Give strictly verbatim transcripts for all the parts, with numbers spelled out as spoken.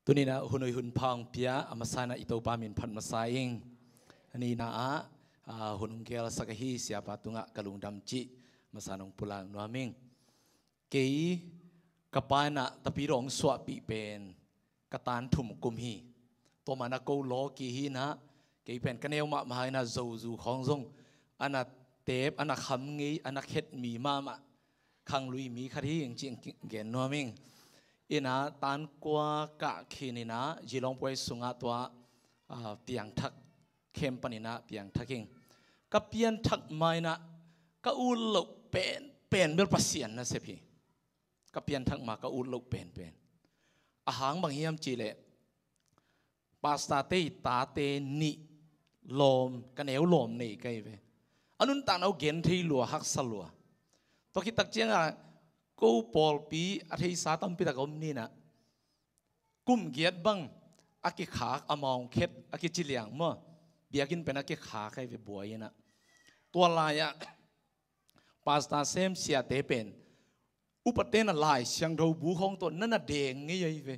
Tuninah hun ui hun pha hong pia a masa inah i Topa min phat masa ing. A nihna ah, ah, hun hong gelsak ahi siapa tungah ka lungdam cih masa nong pulak nuam ing. Kei ka pa inah Tapidaw hong suahpih pen ka tan thum kum hi. Tua mah inah ko lawki hi inah, kei pen ka neu mahmah inah zozu khawng zong a na tep, a na kham ngei, a na khet mi mahmah khanglui mi khat hi ing cih gen nuam ing. Inah tan kua kah khin inah Geelong Post sungah tua, ah, piangthak, khem pan inah piangthak ing. Ka pianthak ma inah ka ut loh pen, pen bel Pasian nasep hi. Ka pianthak ma ka ut loh penpen. A hang bang hiam cihleh, pastor te i tate nih lawm, ka neu lawm nei ka hi ve. A nuntakna uh gen thei lua, haksa lua. Tua khit tak ciangah ko pawlpi a theisa tampi tak om ni inah, kum giat bang a kikhak, a mawngkhet, a kiciliang maw, biakinn pen a kikhak ka hi ve buai inah. Tua lai-ah pastor sem siate pen upate na Lai Siangtho bu khawng tawh na na deng ngei ahi ve.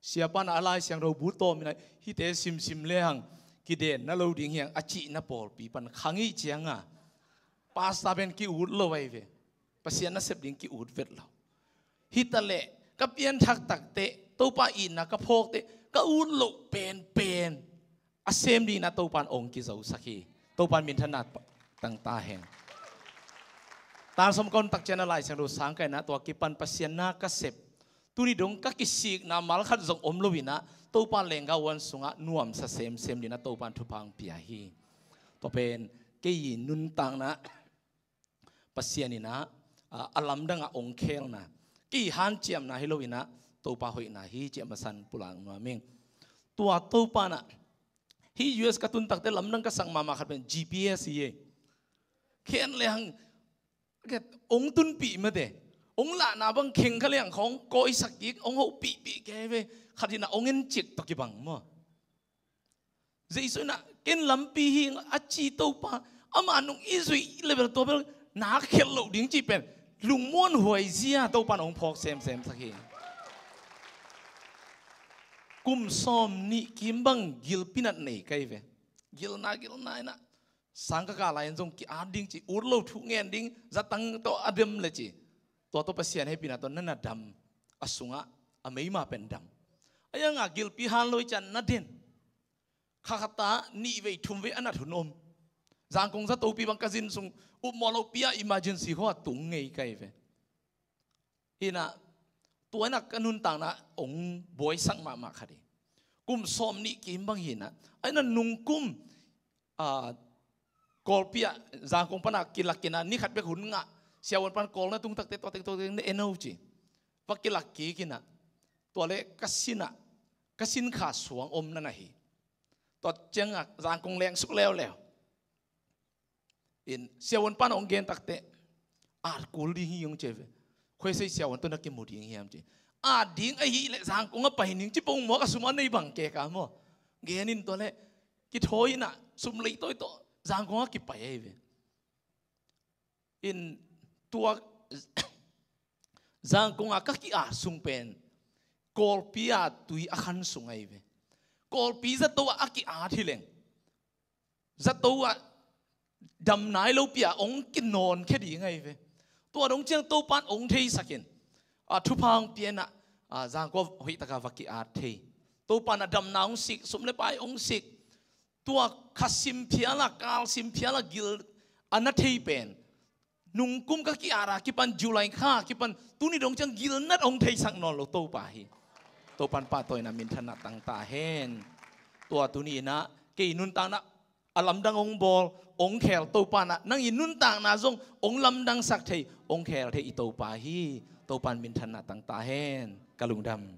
Siapa na a Lai Siangtho bu tawm inah, hihte simsim le hang kidenna lo ding hi hang a cihna pawlpi pan kha ngei cianga pastor pen ki-ut lo ahi ve. Pasian nasep ding ki-ut vet lo. Hitaleh ka pianthak takteh, Topa itna ka phawkteh, ka ut loh penpen a sem dingin a Topan ong kizosak hi. Topan minthanna tang ta hen. Tan sawm ka hun tak ciang a Lai Siangtho sang ka inah tua kipan Pasian na ka sep. Tuni dong ka kisikna mal khat zong om lo inah Topa lengga uan sungah nuamsa semsem dingin a Topan thupha hong pia hi. Tua pen kei i nuntakna Pasian inah, a, a lamdang a ong khelna, kei hanciamna hi lo inah Topa hoihna hi cih a masan pulak nuam ing. Tua Topa inah, hih U S ka tun takteh lamdang ka sak mahmah khat pen G P S hi ei. Khen le hang, ong tunpih mate, ong lahna bang kheng kha le hang khawng kawisak kik, ong hopihpih kei ve. Khat inah ong encik tawh kibang maw. Jesu inah ken lampi hi ing a ci Topa, amah nung i zuih level tua bel nak khelh loh ding cih pen lungmuan huai zia Topan ong phawk semsem sak hi. Kum sawm nih kim bang gilpi nat nei ka hi ve. Gilna, gilna inah sang ka kah lai-in zong ki-at ding cih, ut lo thu ngen ding, zatang tawh a dem le ci. Tua tawh Pasian hehpihna tawh na na dam, a sungah a meima pen dam. A ianga gilpi han lo i cian na den. Kha khat ah nih vei thum vei a nat hun om. Zangkong zatopi bang ka zin sung, upmawh lopi ah emergency khua tung ngei ka hi ve. Inah tua inah ka nuntakna ong buaisak mahmah khat hi. Kum sawm nih kim bang hi inah, a inah nungkum, ah, Kawlpi ah Zangkong pana kilak inah ni khat bek hun ngah, siavuan pan Kawl na tung takteh tua teng tua teng na en o ci. Va kilak kik inah, tua le ka sinah, ka sin kha suang om na na hi. Tua ciangah Zangkong leng suk leuleu. In siavuan pan ong gen takteh, at kul ding hi ong ci ve. Khoisei siavuan tawh na kimu ding hiam ci. At ding ahih leh Zangkong a pai ning ci pongmuak a sum a nei bang kei ka maw. Gen in tua le kithawi inah sum leitawi tawh Zangkong a kipai ahi ve. In tua Zangkong a ka ki-at sung pen Kawlpi a tui a khan sung ahi ve. Kawlpi zato ah a ki-at hi leng, zato ah dam nai lopi ah ong kinawnkhia ding ahi ve. Tua dong ciang Topan ong theisak in, a, thupha ong pia inah, a, Zangkong hoih taka va ki-at thei. Topan a damna ong sik, sum le pai ong sik. Tua kha sim phial a, kal sim phial a gil a na thei pen nungkum ka ki-at a kipan, July kha kipan tuni dong ciang gilnat ong theisak nawn lo Topa hi. Topan pahtawina minthanna tang ta hen. Tua tuni inah kei nuntakna a lamdang ong bawl, ong khel Topa inah nang i nuntakna zong ong lamdangsak thei, ong khel thei i Topa hi. Topan minthanna tang ta hen. Ka lungdam.